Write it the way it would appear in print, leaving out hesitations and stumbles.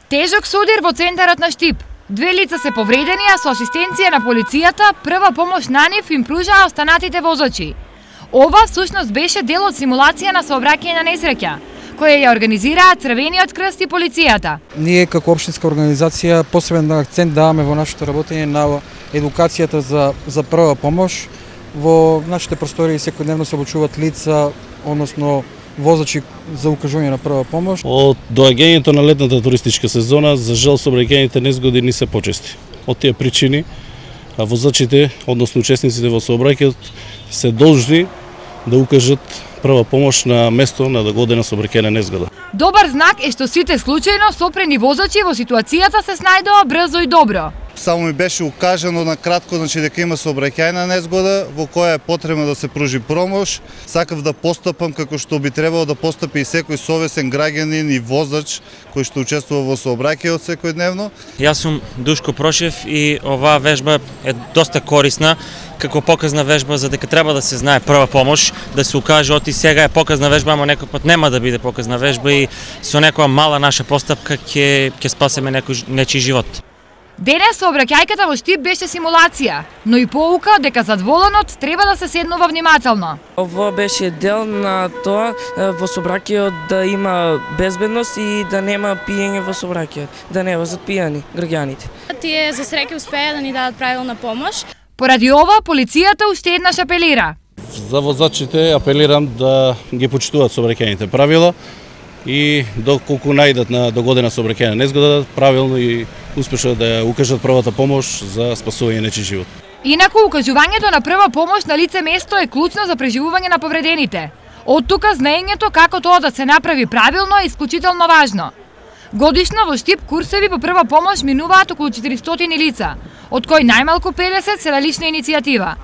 Тежок соудир во центарот на Штип. 2 лица се повредени, а со асистенција на полицијата, прва помош на нив им пружаа останатите возачи. Ова всушност беше дел од симулација на сообраќајна несреќа, која ја организираа Црвениот крст и полицијата. Ние како општинска организација посебен акцент даваме во нашето работење на едукацијата за прва помош. Во нашите простории секојдневно се обучуваат лица, односно возачи за укажување на прва помош. Од доаѓањето на летната туристичка сезона, за жал сообраќајните незгоди не се почести. Од тие причини, возачите, односно учесниците во сообраќајот, се должни да укажат прва помош на место на догодена сообраќајна незгода. Добар знак е што сите случајно сопрени возачи во ситуацијата се снајдоа брзо и добро. Само ми беше укажано на кратко, значи дека има сообраќајна незгода во која е потребно да се пружи помош. Сакав да постапам како што би требало да постапи и секој совесен граѓанин и возач кој што учествува во сообраќајот секојдневно. Јас сум Душко Прошев и оваа вежба е доста корисна како показна вежба за дека треба да се знае прва помош, да се укаже оти сега е показна вежба, ама некој пат нема да биде показна вежба и со некоја мала наша постапка ќе спасеме нечи живот. Денес сообраќајката во Штип беше симулација, но и поука дека зад воланот треба да се седнува внимателно. Ово беше дел на тоа во сообраќајот да има безбедност и да нема пиење во сообраќајот, да не возат пијани граѓаните. Тие за среќа успеа да ни дадат правилна помош. Поради ова полицијата уште еднаш апелира. За возачите апелирам да ги почитуваат сообраќајните правила и доколку најдат на догодена сообраќајна незгода, правилно и успешно да ја укажат првата помош за спасување нечи живот. Инаку, укажувањето на прва помош на лице место е клучно за преживување на повредените. Од тука знаењето како тоа да се направи правилно е исклучително важно. Годишно во Штип курсеви по прва помош минуваат околу 400 лица, од кои најмалку 50 се на лична иницијатива.